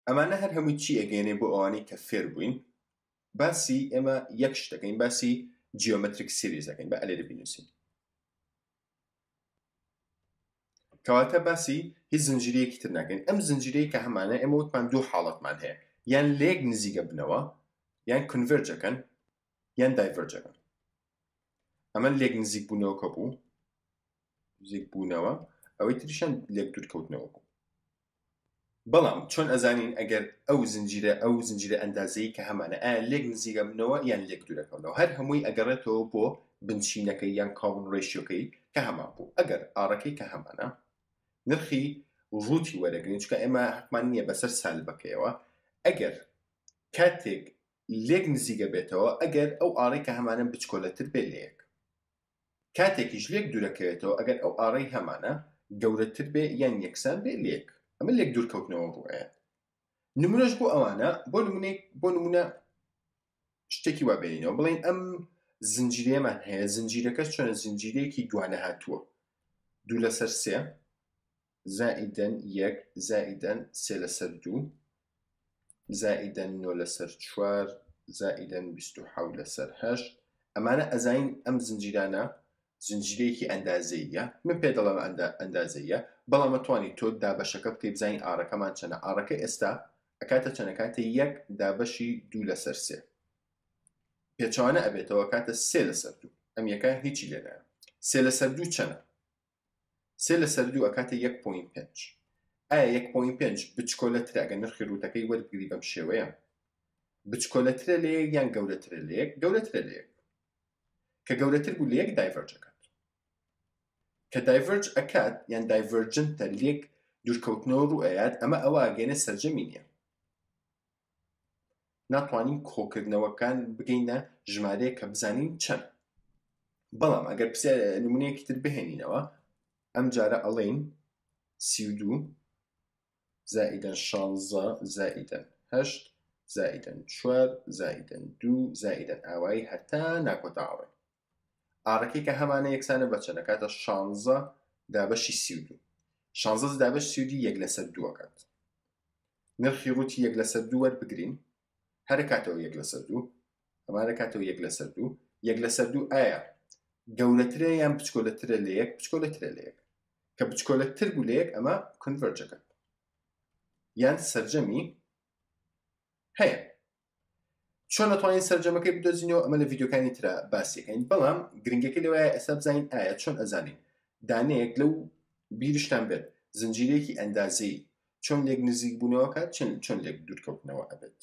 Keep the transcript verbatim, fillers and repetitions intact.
ئەمانە هەر هەمووی چی ئەگەێنێ بۆ ئەوانەی کە فێر بووین؟ باسی ئێمە یەک شت دەکەین، باسی geometric series دەکەین. بە ئەلێرە بینووسین. کەواتە باسی هیچ زنجیرەیەکی تر ناکەین. ئەم زنجیرەیە کە هەمانە، ئێمە وتمان دوو حاڵەتمان هەیە، یان لێک نزیکە بنەوە، یان converge ەکەن، یان diverge ەکەن. ئەمە لێک نزیک بوونەوەکە بوو، نزیک بوونەوە، ئەوەی تریشان لێک دوورکەوتنەوە بوو. بەڵام چۆن ئەزانین ئەگەر ئەو زنجیرە ئەو زنجیرە ئەندازەی کە هەمانە ئایا لێک نزیکە بنەوە یان لێک دوورەکەونەوە؟ هەر هەمووی ئەگەڕێتەوە بۆ بنچینەکەی یان common ratio کەی کە هەمان بوو. ئەگەر R ەکەی کە هەمانە نرخی root ی وەرەگرین، چونکە ئێمە حەقمان نییە بەسەر سالبەکەیەوە، ئەگەر کاتێک لێک نزیکە بێتەوە، ئەگەر ئەو R ەی کە هەمانە بچکۆلەتر بێ لە یەک، کاتێکیش لێک دوورەکەوێتەوە ئەگەر ئەو R ەی هەمانە گەورەتر بێ یان یەکسان بێ لە یەک. ئەمە لێک دوورکەوتنەوە ڕوئەیە. نمونەش بۆ ئەوانە، بۆ نمونەی بۆ نمونە شتێکی وا بێنینەوە، بڵێن ئەم زنجیرەیەمان هەیە، زنجیرەکەش چۆنە؟ زنجیرەیەکی دوانە هاتووە، دوو لەسەر سێ زائیدەن یەک زائیدەن سێ لەسەر دوو زائیدەن نۆ لەسەر چوار زائیدەن بیست و حەوت لەسەر هەشت. ئەمانە ئەزانین ئەم زنجیرانە زنجیرەیەکی ئەندازەیە، من پێ دەڵێم ئەندازەیە، بەڵام ئەتوانی تۆ دابەشەکە بکەی بزانین R ەکەمان چەنە. R ەکە ئێستا ئەکاتە چەنە؟ کاتە یەک دابەشی دوو لەسەر سێ، پێچەوانە ئەبێتەوە کاتە سێ لەسەر دوو. ئەم یەکە هیچی لێنایە. سێ لەسەر دوو چەنە؟ سێ لەسەر دوو ئەکاتە یەک point پێنج. ئایا یەک point پێنج بچکۆلەترە ئەگەر نرخی root ەکەی وەربگری بەم شێوەیە؟ بچکۆلەترە لە یەک یان گەورەترە لە یەک؟ گەورەترە لە یەک. کە گەورەتر بوو لە یەک diverge ئەکات. کە diverge ئەکات یان divergent ە لێک دوورکەوتنەوە ڕوو ئەیات، ئەمە ئەوە ئەگەینە سەرجەمی نییە. ناتوانین کۆکردنەوەکان بگەینە ژمارەیە کە بزانین چەند. بەڵام ئەگەر پرسیار نمونەیەکی تر بهێنینەوە، ئەم جارە ئەڵێین سی و دوو زائیدەن شانزە زائیدەن هەشت زائیدەن چوار زائیدەن دوو زائیدەن ئاوایی هەتا ناکۆتا ئاڕێ. R ەکەی کە هەمانە یەکسانە بە چەند؟ ئەکاتە شانزە دابەشی سی و دوو. شانزە دابەش سی و دوو یەک لەسەر دوو ئەکات. نرخی root ی یەک لەسەر دوو وەربگرین، هەر کاتەوە یەک لەسەر دوو، ئەمانە کاتەوە یەک لەسەر دوو. یەک لەسەر دوو ئایا گەورەترە یان بچکۆلەترە لە یەک؟ بچکۆلەترە لە یەک. کە بچکۆلەتر بوو لە یەک ئەمە converge ەکات یان سەرجەمی هەیە. چۆن ئەتوانین سەرجەمەکەی بدۆزینەوە؟ ئەمە لە ڤیدیۆکانی ترا باسیەکەین، بەڵام گرنگەکەی لەوایە ئێستا بزانین ئایا چۆن ئەزانین دانەیەک لەو بیرشتان بێت زنجیرەیەکی ئەندازەی چۆن لێک نزیک بوونەوەکات، چۆن لێک دوورکەوتنەوە ئەبێت.